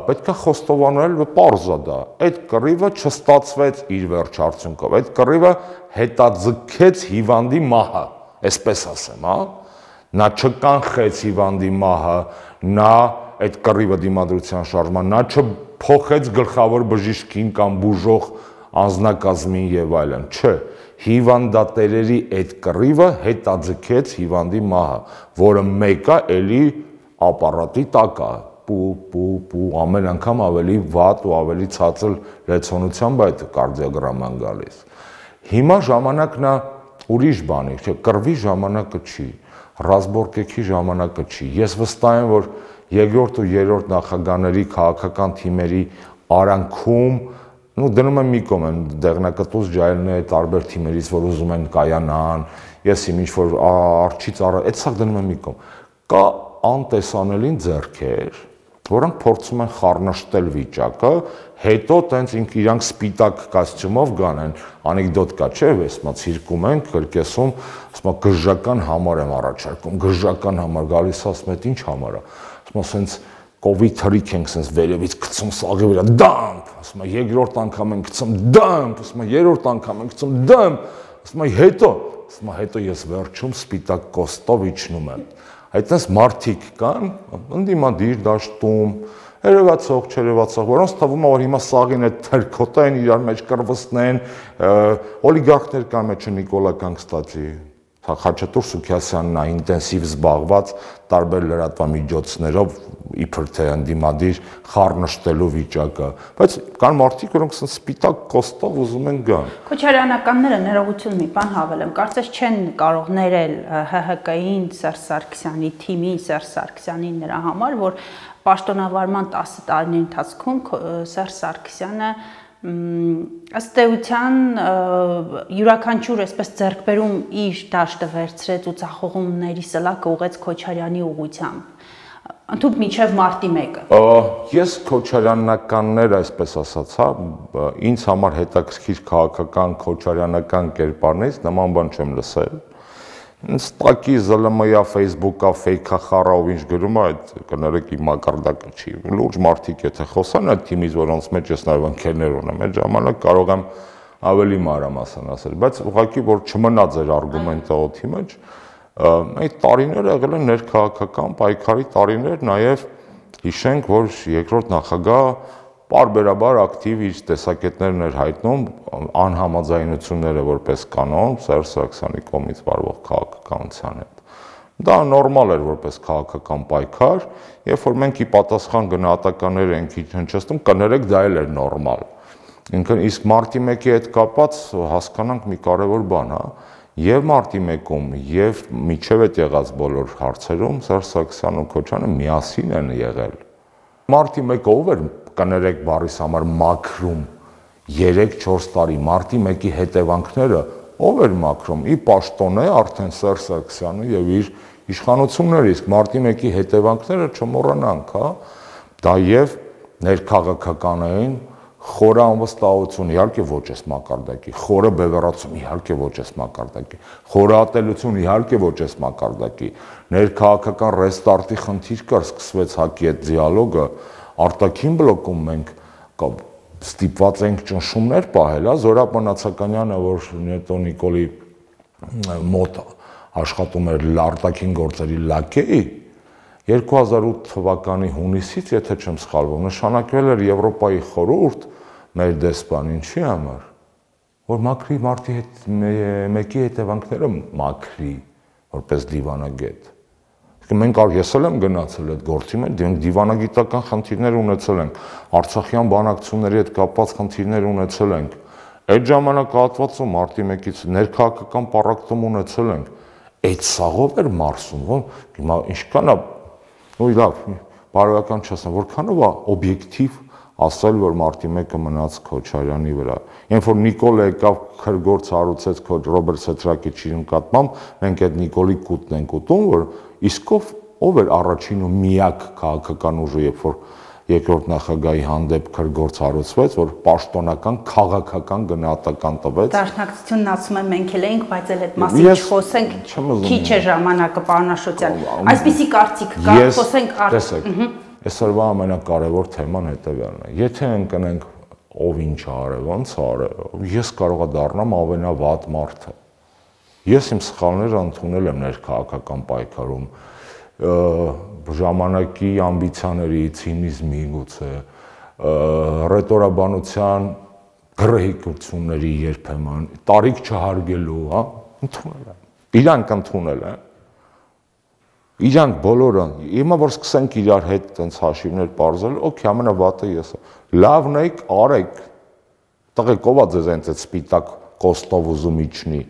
պետք է խոստովանել, պարզ է դա, այդ կռիվը չստացվեց իր վերջ արդյունքով, այդ կռիվը հետաձգեց հիվանդի մահը, այսպես ասեմ, հա։ Նա չկանխեց հիվանդի մահը, նա այդ կռիվը դիմադրության շարժման, նա չփոխեց գլխավոր բժիշկին կամ բուժող անձնակազմին եւ այլն, չէ, հիվանդատերերի այդ կռիվը հետաձգեց հիվանդի մահը, որը մեկը էլի ապարատի տակ է, պու պու պու ամեն անգամ ավելի վատ ու ավելի ցածր լեցոնությամբ այդ կարդիոգրաման գալիս։ Հիմա ժամանակն է ուրիշ բանի, չէ, կռվի ժամանակը չի, ռազմորկեքի ժամանակը չի։ Ես վստահ եմ, որ երկրորդ ու երրորդ նախագահների քաղաքական թիմերի արանքում, նու դնում եմ մի կողմ են դեղնակտուց ջայլները տարբեր թիմերից, որ ուզում են կայանան, ես իմ ինչ որ արջից առ, այդ սա դնում եմ մի կողմ։ Կա անտեսանելին ձեռքեր, որոնք փորձում են խառնաշտել վիճակը, հետո տենց իրանք սպիտակ կոստյումով գանեն, անեկդոտ կա, չէ՞, ասում ցիրկում են, կրկեսում, ասում գժական համար եմ առաջարկում, գժական համար գալիս ասում է, ինչ համար է, ասում ասենց կովիդ հրիկ ենք սենց վերևից գցում սաղի վրա, դամփ, ասում է երկրորդ անգամ ենք գցում, դամփ, ասում է երրորդ անգամ ենք գցում, դամփ, ասում է հետո, ասում է հետո ես վերջում սպիտակ կոստով իջնում եմ։ Այդտենց մարդիկ կան, ընդդիմադիր դաշտում, երևացող, չերևացող, որոնց թվում է, որ հիմա սաղին այդ թերքոտային իրար մեջ կրվստնեն, օլիգարխներ կան մեջը Նիկոլական, կստացի, Խաչատուր Սուքիասյանն է ինտենսիվ զբաղված տարբեր լրատվամիջոցներով իբր թե ընդդիմադիր խառնշտելու վիճակը, բայց կան մարդիկ, որոնք սպիտակ կոստով ուզում են գան։ Քոչարյանականները ներողություն մի բան հավելեմ, կարծես չեն կարող ներել ՀՀԿ-ին, Սերժ Սարգսյանի թիմին, Սերժ Սարգսյանին նրա համար, որ պաշտոնավարման տասը տարիների ընթացքում Սերժ Սարգսյանը ըստ էության յուրաքանչյուր այսպես ձեռքբերում իր դաշտը վերցրեց ու ցախողումների սլակը ուղեց Քոչարյանի ուղղությամբ։ Ընդհանուր մինչև մարտի մեկը։ Ես քոչարյանականներ, այսպես ասած, հա, ինձ համար հետաքրքիր քաղաքական քոչարյանական կերպարներից նման բան չեմ լսել։ Ստակի ԶԼՄ-յա, Facebook-ա, ֆեյքա խառավ ինչ գրում է, այդ կներեք իմ մակարդակը չի։ Լուրջ մարդիկ եթե խոսան այդ թիմից, որոնց մեջ ես նաև ընկերներ ունեմ, այդ ժամանակ կարող եմ ավելի մանրամասն ասել, բայց ուղղակի որ չմնա ձեր արգումենտը օդի մեջ, այդ տարիները եղել են ներքաղաքական պայքարի տարիներ, նաև հիշենք, որ երկրորդ նախագահ պարբերաբար ակտիվ իր տեսակետներն էր հայտնում անհամաձայնությունները որպես կանոն Սերժ Սարգսյանի կողմից վարվող քաղաքականության հետ։ Դա նորմալ էր որպես քաղաքական պայքար, երբ որ մենք ի պատասխան գնահատականներ ենք հնչեցնում, կներեք դա էլ էր նորմալ։ Ինքն իսկ մարտի մեկի հետ կապված հասկանանք մի կարևոր բան, հա, եւ մարտի մեկում եւ միջև այդ եղած բոլոր հարցերում Սերժ Սարգսյանն ու Քոչյանը միասին են եղել։ Մարտի մեկը ով էր կներեք բառիս համար մաքրում երեք-չորս տարի մարտի մեկի հետևանքները ով էր մաքրում ի պաշտոն է արդեն Սերժ Սարգսյանը եւ իր իշխանությունները, իսկ մարտի մեկի հետևանքները չմոռանանք, հա, դա եւ ներքաղաքական էին, խորը անվստահություն իհարկե ոչ էս մակարդակի, խորը բևեռացում իհարկե ոչ էս մակարդակի, խորհատելություն իհարկե ոչ էս մակարդակի, ներքաղաքական ռեստարտի խնդիր կար, սկսվեց ՀԱԿ-ի հետ դիալոգը, արտաքին բլոկում մենք ստիպված ենք ճնշումներ պահել, հա, Զորապ Մնացականյանը, որ Նետո Նիկոլի մոտ աշխատում էր արտաքին գործերի լաքեի, երկու հազար ութ թվականի հունիսից, եթե չեմ սխալվում, նշանակվել էր Եվրոպայի խորհուրդ մեր դեսպան ինչի համար, որ Մակրի մարտի հետ մեկի հետևանքները մաքրի, որպես դիվանագետ։ Մենք ես էլ եմ գնացել այդ գործի մեջ, դիվանագիտական խնդիրներ ունեցել ենք, արցախյան բանակցությունների հետ կապված խնդիրներ ունեցել ենք, այդ ժամանակահատվածում մարտի մեկից ներքաղաքական պառակտում ունեցել ենք, այդ սաղով էր մարսում, հիմա ինչքան է, ու լավ, բարոյական չասեմ, որքանով է օբյեկտիվ ասել, որ մարտի մեկը մնաց Քոչարյանի վրա։ Երբ որ Նիկոլը եկավ քրգործ հարուցեց Ռոբերտ Սեթրակիչի նկատմամբ, մենք այդ Նիկոլի կուտն ենք ուտում, որ իսկով ով էր առաջին ու միակ քաղաքական ուժը, երբ որ երկրորդ նախագահի հանդեպ քրգործ հարուցվեց, որ պաշտոնական քաղաքական գնահատական տվեց։ Դաշնակցությունն ասում եմ մենք էլ էինք, բայց էլ այդ մասին չխոսենք, քիչ է ժամանակը, պարոն Աշոտյան։ Այսպիսի կարծիք կա, խոսենք տեսեք, այսօրվա ամենակարևոր թեման հետևյալն է։ Եթե ընկնենք ով ինչ արել, ոնց արել, ես կարող եմ դառնամ ամենավատ մարդը։ Ես իմ սխալները ընդունել եմ ներքաղաքական պայքարում, ժամանակի ամբիցիաների, ցինիզմի գուցե, ռետորաբանության գրեհիկությունների երբեմն, տարիք չհարգելու, հա, ընդունել եմ։ Իրանք ընդունել են։ Իրանք բոլորը, հիմա որ սկսենք իրար հետ տենց հաշիվներ պարզել, օքեյ, ամենավատը ես եմ։ Լավն եք, արեք։ Տղեկ ով է ձեզ այնց այդ սպիտակ կոստով ուզում իջնի։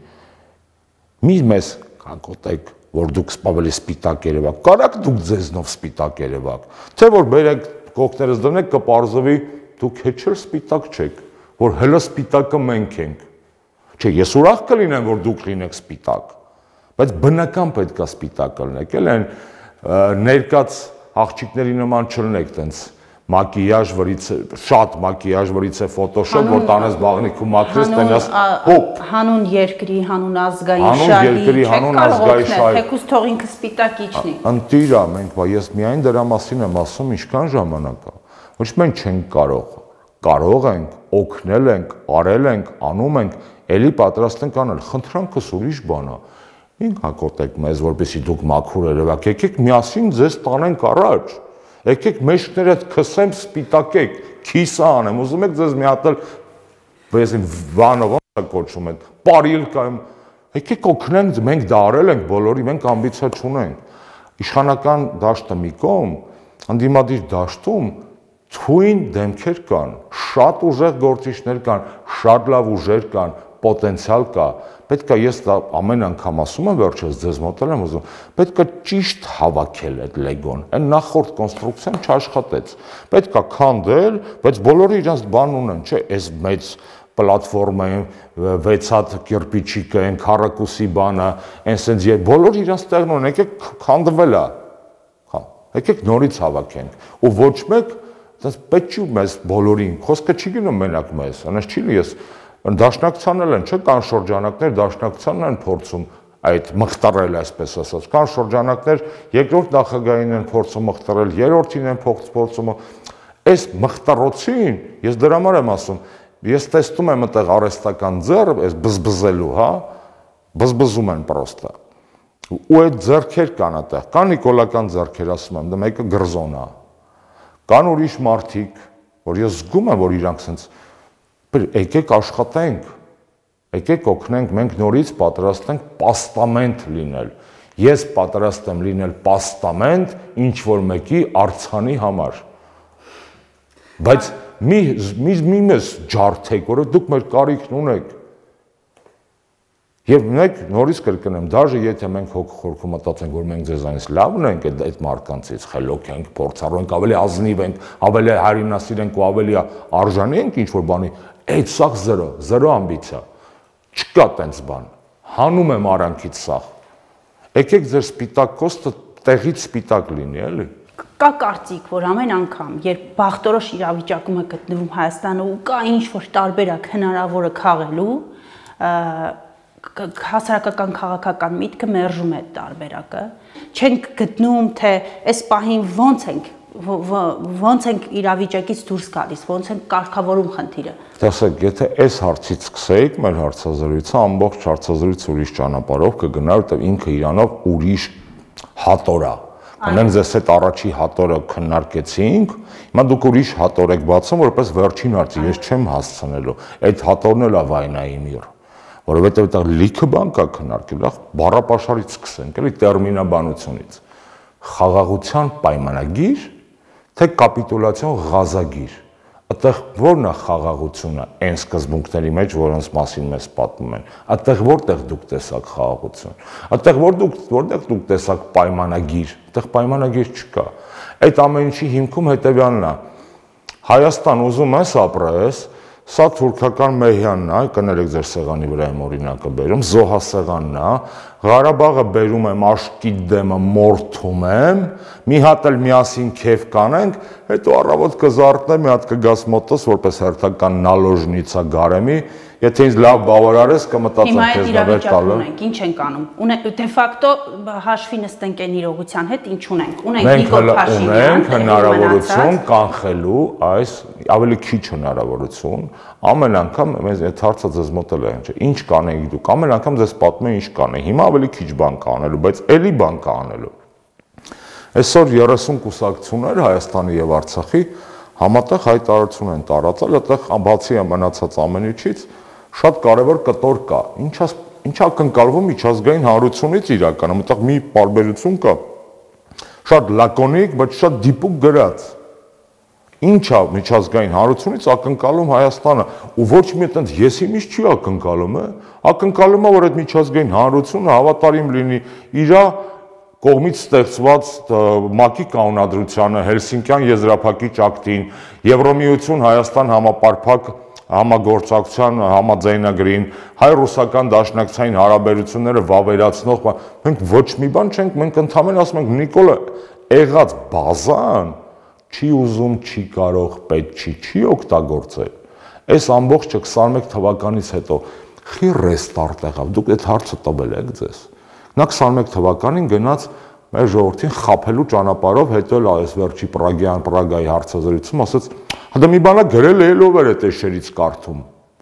Մի մեզ կակոտեք, որ դուք ավելի սպիտակ երևաք, կարաք դուք ձեզնով սպիտակ երևաք, թե որ բերեք կոկներս դնեք կպարզվի, դուք հեչել սպիտակ չեք, որ հելը սպիտակը մենք ենք, չէ, ես ուրախ կլինեմ, որ դուք լինեք սպիտակ, բայց բնական պետք է սպիտակ լինեք, էլ են ներկած աղջիկների նման չլինեք տենց մակիաժ վրից շատ մակիաժ վրից է ֆոտոշոփ որ տանես բաղնիքում մաքրես տենաս հոպ հանուն երկրի հանուն ազգային շահի հանուն ազգային շահի թեկուզ թող ինքը սպիտակ իջնի ընտիրա մենք բա ես միայն դրա մասին եմ ասում ինչքան ժամանակ է ոչ մենք չենք կարող կարող ենք օգնել ենք արել ենք անում ենք ելի պատրաստ ենք անել խնդրանքս ուրիշ բան է ինք հակոտեք մեզ որպեսզի դուք մաքուր երևաք եկեք միասին ձեզ տանենք առաջ եկեք մեջքները քսեմ սպիտակեք, քիսա անեմ, ուզում եք ձեզ մի հատ էլ բեսին վանով ոնց կոչում են, պարիլ կայում, եկեք օգնենք, մենք դա արել ենք բոլորի, մենք ամբիցիա չունենք։ Իշխանական դաշտը մի կողմ, ընդդիմադիր դաշտում թույն դեմքեր կան, շատ ուժեղ գործիչներ կան, շատ լավ ուժեր կան, պոտենցիալ կա, պետք է ես դա ամեն անգամ ասում եմ վերջերս ձեզ մոտել եմ ուզում, պետք է ճիշտ հավաքել այդ լեգոն, այն նախորդ կոնստրուկցիան չաշխատեց, պետք է քանդել, բայց բոլորը իրենց բան ունեն, չէ, այս մեծ պլատֆորմա են, վեց հատ կիրպիչիկը, այն քառակուսի բանը, այն սենց եւ բոլորը իրենց տեղն ունեն, եկեք քանդվել է, հա, եկեք նորից հավաքենք, ու ոչ մեկ դες պետք չի մեզ բոլորին, խոսքը չի գնում մենակ մեզ, այնպես չի լի ես Դաշնակցանն են, չէ, կան շրջանակներ, դաշնակցանն են փորձում այդ մխտարել, այսպես ասած, կան շրջանակներ, երկրորդ նախագահին են փորձում մխտարել, երրորդին են փորձում, այս մխտարոցին, ես դրա համար եմ ասում, ես տեսնում եմ այդտեղ արհեստական ձեռ, այս բզբզելու, հա, բզբզում են պրոստը, ու այդ ձեռքեր կան այդտեղ, կան նիկոլական ձեռքեր, ասում եմ, դա մեկը գրզոն է, կան ուրիշ մարդիկ, որ ես զգում եմ, որ իրանք սենց եկեք աշխատենք, եկեք օգնենք, մենք նորից պատրաստ ենք պաստամենտ լինել, ես պատրաստ եմ լինել պաստամենտ ինչ-որ մեկի արձանի համար, բայց մի մեզ ջարդեք, որ դուք մեր կարիքն ունեք, և մենք նորից կրկնեմ, դաժե եթե մենք հոգ խորքում մտածենք, որ մենք ձեզանից լավն ենք այդ մարդկանցից, խելոք ենք, փորձառու ենք, ավելի ազնիվ ենք, ավելի հայրենասիր ենք ու ավելի արժանի ենք ինչ-որ բանի, այդ սաղ զրո, զրո ամբիցիա, չկա տենց բան, հանում եմ արանքից սաղ, եկեք ձեր սպիտակ կոստը տեղից սպիտակ լինի, էլի։ Կա կարծիք, որ ամեն անգամ, երբ բախտորոշ իրավիճակում է գտնվում Հայաստանը ու կա ինչ-որ տարբերակ հնարավոր է քաղելու, հասարակական քաղաքական միտքը մերժում է այդ տարբերակը, չենք գտնում, թե այս պահին ոնց ենք ոնց ենք իրավիճակից դուրս գալիս, ոնց ենք կարգավորում խնդիրը։ Տեսեք, եթե այս հարցից սկսեիք մեր հարցազրույցը, ամբողջ հարցազրույցը ուրիշ ճանապարհով կգնա, որտեղ ինքը իրանով ուրիշ հատոր է։ Անեմ ձեզ այդ առաջի հատորը քննարկեցինք, հիմա դուք ուրիշ հատոր եք բացում, որպես վերջին հարցի, ես չեմ հասցնելու։ Այդ հատորն էլ է վայնայի միր, որովհետև դա լիքը բան կա քննարկել, բառապաշարից սկսենք, էլի տերմինաբանությունից։ Խաղաղության պայմանագիր, թե կապիտուլյացիոն ղազագիր։ Այդտեղ ո՞րն է խաղաղությունը այն սկզբունքների մեջ, որոնց մասին մեզ պատմում են։ Այդտեղ որտեղ դուք տեսաք խաղաղություն։ Այդտեղ որ դուք որտեղ դուք տեսաք պայմանագիր, այդտեղ պայմանագիր չկա։ Այդ ամեն ինչի հիմքում հետևյալն է։ Հայաստան ուզում ես ապրես, սա թուրքական մեհյանն է, կներեք ձեր սեղանի վրա եմ օրինակը բերում, զոհասեղանն է, Ղարաբաղը բերում եմ աշկի դեմը մորթում եմ, մի հատ էլ միասին քեֆ կանենք, հետո առավոտ կզարթնեմ, մի հատ կգաս մոտս, որպես հերթական նալոժնիցա գարեմի, եթե ինձ լավ բավարարես, կմտածեմ քեզ նվեր տալու։ Ինչ ենք անում։ Դե ֆակտո հաշվի նստենք այն իրողության հետ, ինչ ունենք։ Ունենք Նիկոլ Փաշինյան, ունենք հնարավորություն կանխելու այս ավելի քիչ հնարավորություն, ամեն անգամ մեզ այդ հարցը ձեզ մոտ էլ է, ինչ կանեիք դուք, ամեն անգամ ձեզ պատմում են ինչ կանեի, հիմա ավելի քիչ բան կա անելու, բայց էլի բան կա անելու։ Այսօր երեսուն կուսակցություններ Հայաստանի եւ Արցախի համատեղ հայտարարություն են տարածել, այդտեղ բացի մնացած ամեն ինչից շատ կարևոր կտոր կա։ Ինչա ինչա կընկալվում միջազգային հանրությունից իրականում, այդտեղ մի պարբերություն կա։ Շատ լակոնիկ, բայց շատ դիպուկ գրած։ Ինչա միջազգային հանրությունից ակնկալում Հայաստանը, ու ոչ մի այդպես ես իմից չի ակնկալում, է, ակնկալում է, որ այդ միջազգային հանրությունը հավատարիմ լինի իր կողմից ստեղծված ՄԱԿ-ի կանոնադրությանը, Հելսինկյան եզրափակիչ ակտին, Եվրոմիություն Հայաստան համապարփակ համագործակցության համաձայնագրին, հայ-ռուսական դաշնակցային հարաբերությունները վավերացնող, մենք ոչ մի բան չենք, մենք ընդհանրապես ասում ենք Նիկոլը եղած բազան չի ուզում, չի կարող, պետք չի, չի օգտագործել։ Այս ամբողջը քսաներեք թվականից հետո խի ռեստարտ եղավ, դուք այդ հարցը տվել եք ձեզ։ Նա քսաներեք թվականին գնաց մեր ժողովրդին խաբելու ճանապարհով, հետո էլ այս վերջի Պրագյան, Պրագայի հարցազրույցում ասաց, հա մի բանա գրել է, ելով էր այդ էշերից կարդում։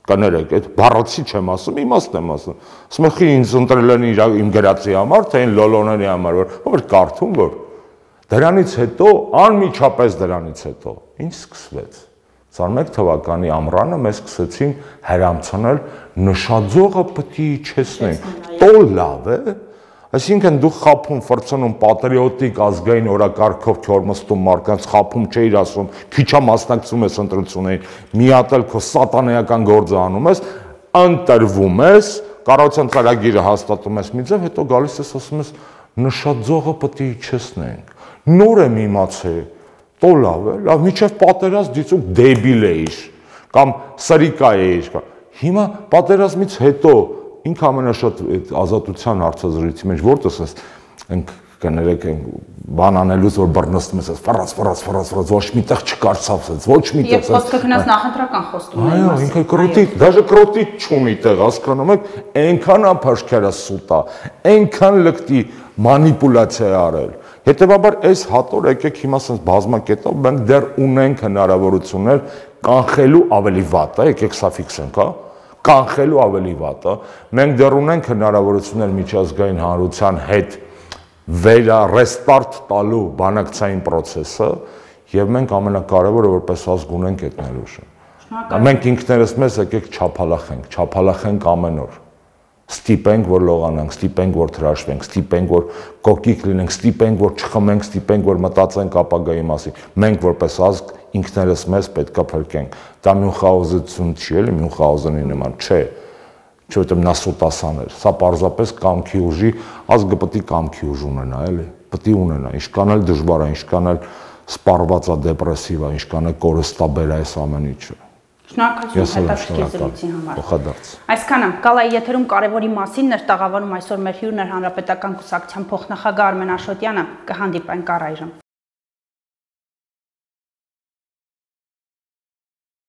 Կներեք, այդ բառացի չեմ ասում, իմաստ եմ ասում։ Ասում եմ, խի ինձ ընտրել են իմ գրածի համար, թե այն լոլոների համար, որ կարդում որ։ Դրանից հետո, անմիջապես դրանից հետո, ինչ սկսվեց։ քսաներեք թվականի ամռանը մեզ սկսեցին հրամցնել նշաձողը պետք է իջեցնենք։ Տո լավ է, այսինքն դու խափում, ֆրցնում պատրիոտիկ ազգային օրակարգով քորմստում մարդկանց խափում չէիր ասում, քիչա մասնակցում ես ընտրություններին, մի հատ էլ քո սատանայական գործը անում ես, ընտրվում ես, կառավարության ծրագիրը հաստատում ես մի ձև, հետո գալիս ես ասում ես նշաձողը պետք է իջեցնենք։ Նոր եմ իմացել, տո լավ է, լավ, միջև պատերազմ դիցուկ դեբիլ էիր, կամ սրիկա էիր, հիմա պատերազմից հետո ինք ամենաշատ ազատության հարցազրույցի մեջ որտես ես ենք կներեք բան անելուց որ բռնստում ես ֆռած ֆռած ֆռած ֆռած ոչ միտեղ չկարծացած ոչ միտեղ եւ խոսքը գնաց նախընտրական խոստումների մասին այո ինքը կրոտի դաժե կրոտի չունի տեղ հասկանում եք այնքան ապաշքերա սուտա այնքան լկտի մանիպուլյացիա արել հետեւաբար այս հատոր եկեք հիմա ասես բազմակետով մենք դեռ ունենք հնարավորություններ կանխելու ավելի վատը եկեք սա ֆիքսենք հա կանխելու ավելի վատը մենք դեռ ունենք հնարավորություններ միջազգային հանրության հետ վերա ռեստարտ տալու բանակցային process-ը եւ մենք ամենակարևորը որպես ազգ ունենք այդ ներուժը։ Մենք ինքներս մեզ եկեք չափալախենք, չափալախենք ամեն օր։ Ստիպենք որ լողանանք, ստիպենք որ թրաշվենք, ստիպենք որ կոկիկ լինենք, ստիպենք որ չխմենք, ստիպենք որ մտածենք ապագայի մասին։ Մենք որպես ազգ ինքներս մեզ պետքա փրկենք։ Դա Մյունխաուզենություն չի էլի, Մյունխաուզենի նման չէ։ Չէ՞ որ նա սուտասան էր։ Սա պարզապես կամքի ուժի, ազգը պետք է կամքի ուժ ունենա, էլի։ Պետք է ունենա, ինչքան էլ դժվար է, ինչքան էլ սպառված է, դեպրեսիվ է, ինչքան էլ կորստաբեր է այս ամեն ինչը։ Շնորհակալություն հետաքրքիր զրույցի համար։ Փոխադարձ։ Այսքանը Կալայի եթերում կարևորի մասին էր տաղավարում այսօր մեր հյուրն էր Հանրապետական կուսակցության փոխնախագահ Արմեն Աշոտյանը, կհանդիպենք առայժմ։